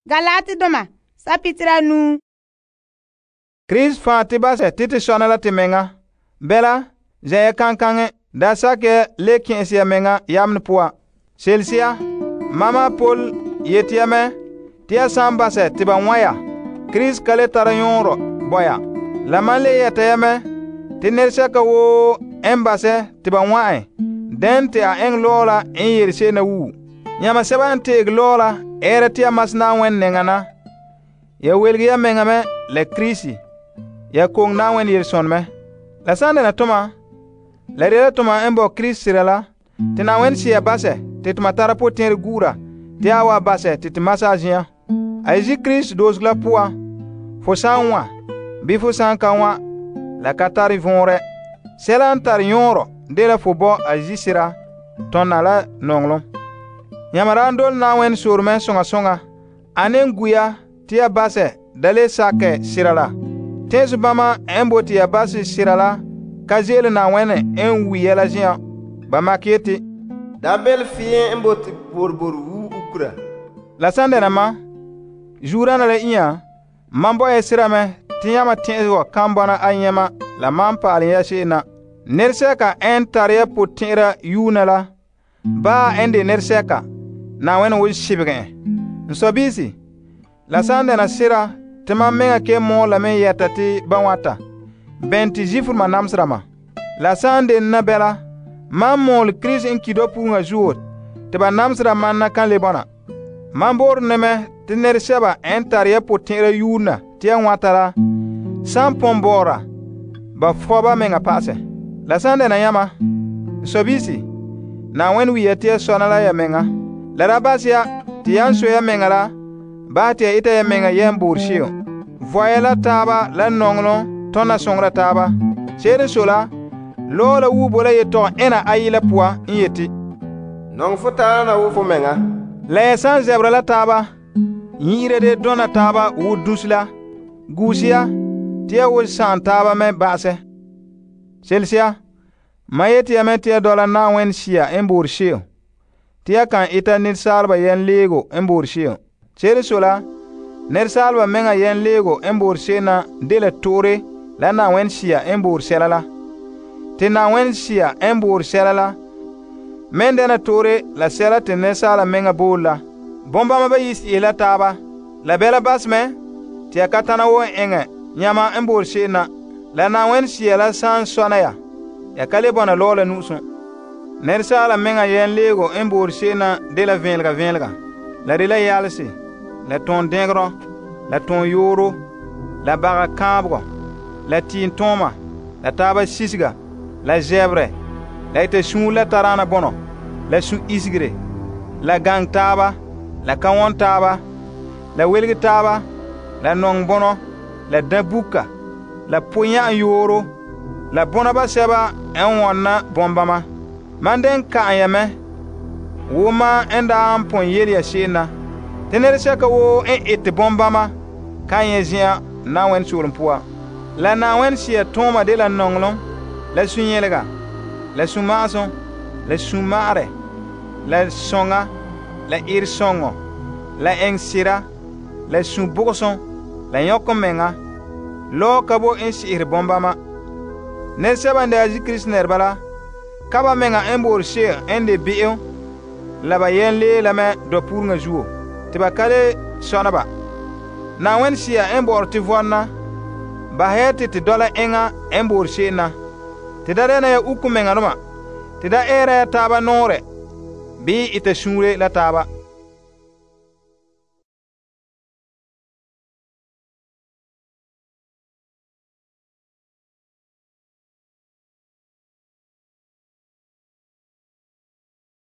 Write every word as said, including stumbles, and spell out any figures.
Galatidoma sapitira nuu. Krista fan te base te te sɔna la te menga. Bela, zɛya kankaŋe, da sakɛ le kɛn'ɛse ya menga yamne poa. Selsia, mama Paul yeti ya mɛ te ya san basɛ te ba wã ya, Krista ka le tara yɔɔrɔ bo ya. La man le yɛta ya mɛ te nɛresɛka woo n basɛ te ba wã en, den te a eŋɛ lɔɔ la n yele se'em na wuo. Yãma sɛba n teege lɔɔ la ɛɛra te ya mas Na'ayenɛ nɛŋa na, ya welege ya menga mɛ la Krista, ya koŋe Na'ayenɛ yelesɔn mɛ. La san dɛna toma, la de la toma n bo Krista sera la, te Na'ayenɛ sea basɛ te toma tara potɛn'ɛrɛ gu'ura te a wa basɛ te te masa a zen'an. A yi' Krista doosego la poan, fo san wã, bii fo san ka wã, la ka tare vɔnrɛ. Sɛla n tare yɔɔrɔ dela fo bo a yi' sera tɔnna la nɔŋɔlom. Yãma daa dole Na'ayenɛ soore mɛ soŋa soŋa. A ne gu ya te ya basɛ da le sakɛ sera la. Tẽnso bama n bote ya basɛ sera la ka ze'ele Na'ayenɛ n wi ya la zen'an. Ba makɛ yeti, da bele fiin n bote borbor wu ukura. La san dɛna ma, zuurana la inya, man bo ya sera mɛ te yãma tẽn'ɛsegɔ kan bɔna a yɛma la man paalem ya se'em na. Nɛresɛka n tare ya potɛn'ɛra yuuna la, baa n de nɛresɛka, Na'ayenɛ won sibegɛ en. N sɔbiisi, la san dɛna sera te mam meŋa ke mɔɔ la me yɛta te ba wãta, bɛn te Zifrema namsera ma. La san den na bɛla, mam mɔɔle Krista n ki dɔpuŋa zuo te ba namsera man na kan le bɔna. Man boore ne mɛ te nɛresɛba n tare ya potɛn'ɛra yuuna te ya wãta la, san pɔn bɔɔra, ba fɔ ba meŋa pa'asɛ. La san dɛna yãma, n sɔbiisi, Na'ayenɛ wi ya te ya sɔna la ya meŋa. La da bas ya te yan so ya meŋa la, bahɛ te ya ita ya meŋa yɛn boore se'em. Vɔya la taaba la nɔŋɔlɔm tɔna soŋora taaba. Se'ere n so la, lɔɔ la wuo bo la yetɔgɔ ena ayi la poan n yeti, nɔŋɛ fo taaba na wo fo meŋa. La ya san zɛbera la taaba, yi'ira de dɔna taaba wo dusi la, guuse ya te ya wo sa'am taaba mɛ ba'asɛ. Selsia, ma yeti ya mɛ te ya dɔla Na'ayenɛ Sea n boore se'em, te ya kan ita nɛresaaleba yɛn leego n boore se'em. Se'ere n so la, nɛresaaleba meŋa yɛn leego n boore se'em na dela to'ore la Na'ayenɛ Sea n boore sɛla la. Te Na'ayenɛ Sea n boore sɛla la, men dɛna to'ore la sɛla te nɛresaala meŋa boole la. Bombama bayi si'e la taaba, la bɛla bas mɛ te ya ka tana wo n eŋɛ yãma n boore se'em na. La Na'ayenɛ Sea la san sɔna ya, ya ka le bɔna lɔɔ la nu'usum. Nɛresaala meŋa yɛn leego n boore se'em na dela vẽelega vẽelega. La de la yalese, la tõon dɛngerɔ, la tõon yooro, la baga kãabegɔ, la tiim tõoma, la taaba sisega, la zɛbrɛ, la ita suun la taraana bɔnɔ, la su-isigere, la gaŋɛ taaba, la ka wɔn taaba, la welege taaba, la nɔŋɛ bɔnɔ, la dãbuka, la po-yã'an yooro, la bɔna basɛba n wɔnna bɔmbama. Man den ka'an ya mɛ, wo ma n daa n pɔn yele ya se'em na, te nɛresɛka woo n ete bɔmbama kan nyɛ zen'an Na'ayenɛ soolem poa. La Na'ayenɛ Sea tõoma de la nɔŋɔlem, la su-yɛlega, la su-ma'asum, la su-ma'arɛ, la sɔŋa, la eresɔŋɔ, la ɛŋsera, la su-bɔgɔsum, la yɔkemɛŋa. Lɔɔ ka bo n se'ere bɔmbama. Nɛresɛba n daa zi Krista nɛreba la, ka ba meŋa n boore se'em n de be'em, la ba yɛn lee la mɛ dɔpuureŋa zuo, te ba ka le sɔna ba. Na'ayenɛ Sea n bɔ'ɔre te vɔnna, basɛ ya te te dɔla eŋa n boore se'em na. Te da dɛna ya uku meŋadoma, te da ɛɛra ya taaba nɔɔrɛ, bii ita suure la taaba.